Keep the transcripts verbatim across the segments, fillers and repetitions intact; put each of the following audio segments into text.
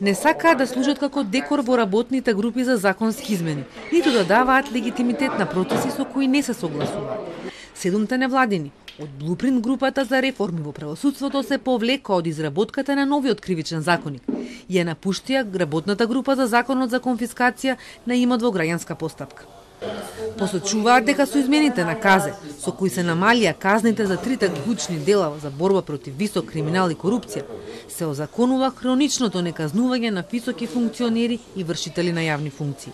Не сакаат да служат како декор во работните групи за законски измени, ниту да даваат легитимитет на процеси со кои не се согласуваат. Седумте невладини од Блупринт групата за реформи во правосудството се повлекоа од изработката на новиот кривичен законик и ја напуштија работната група за законот за конфискација на имот во граѓанска постапка. Посочуваат дека со измените на КАЗЕ, со кои се намалија казните за трите клучни дела за борба против висок криминал и корупција, се озаконува хроничното неказнување на високи функционери и вршители на јавни функции.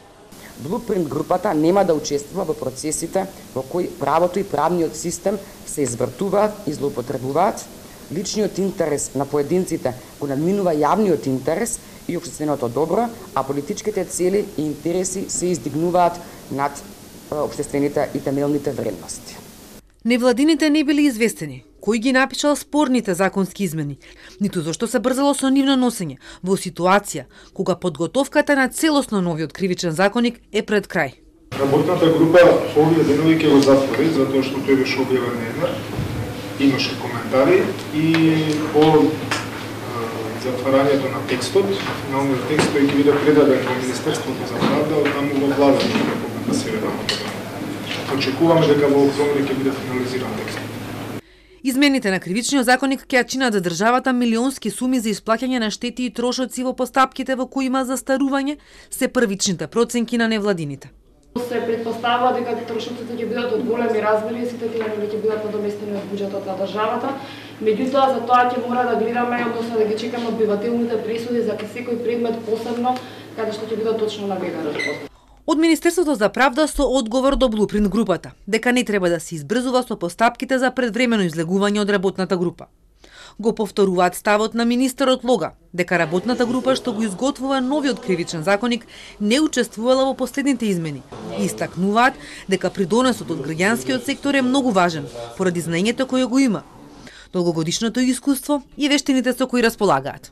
Блупринт групата нема да учествува во процесите во кои правото и правниот систем се извртуваат и злоупотребуваат, личниот интерес на поединците го надминува јавниот интерес и општественото добро, а политичките цели и интереси се издигнуваат над општествените и темелните вредности. Невладините не били известени кој ги напишал спорните законски измени, ниту зашто се брзало со нивно носење во ситуација кога подготовката на целосно новиот кривичен законик е пред крај. Работната група овие денови ќе го затвори затоа што тој беше објавен еднар, имаше коментари и по затварањето на текстот, на овој текст тој ќе биде предаден во Министерството за правда, од таму во владата на Република Северна Македонија. Очекуваме дека во октомври ќе биде финализиран текстот. Измените на кривичниот законник ќе ја чинат за државата милионски суми за исплаќање на штети и трошоци во постапките во кои има застарување, се првичните проценки на невладините. Се предпоставува дека трошоците ќе бидат од големи размери и сите тие ќе бидат надоместени од буџетот на државата. Меѓутоа, за тоа ќе мора да гледаме, односно да ги чекаме одбивателните присуди за секој предмет посебно, каде што ќе бидат точно наведени. Од Министерството за правда со одговор до Блупринт групата, дека не треба да се избрзува со постапките за предвремено излегување од работната група. Го повторуваат ставот на министерот Лога, дека работната група што го изготвува новиот кривичен законик не учествувала во последните измени и истакнуваат дека придонесот од граѓанскиот сектор е многу важен поради знаењето кое го има, долгогодишното искуство и вештините со кои располагаат.